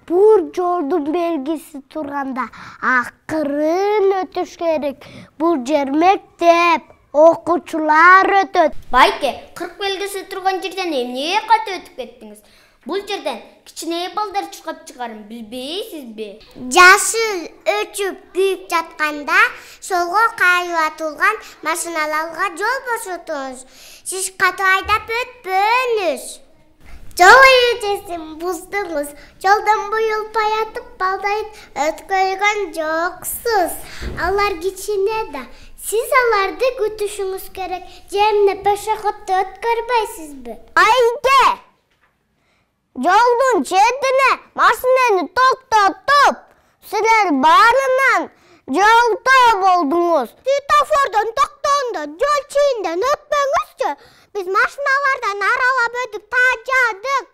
Бул жолдун белгиси турганда акырын өтүш керек. Бул жер мектеп, окуучулар өтөт. Байке, 40 белгиси турган жерден эмне ката өтүп кеттиңиз? Бул жерден кичине балдар чуркап чыгарын билбейсизби? Жашыл өчүп күйүп жатканда солго кайып атылган машиналарга жол бошотуңуз. Сиз катуу айдап өтпөңүз. Жол эрежесин буздуңуз. Жолдон буюлпай атып балдайт өткөргөн жоксуз. Алар кичине да. Сиз аларды күтүшүңүз керек. Же эмне пешеходду өткөрбөйсүзбү? Айге! Жолдун четине машинени токтотуп, силер баарынан жолдо болдуңуз. Светофордон токтогондо жол чейинден өтпөңүзчү. Биз машиналардан аралап өтүп тажадык.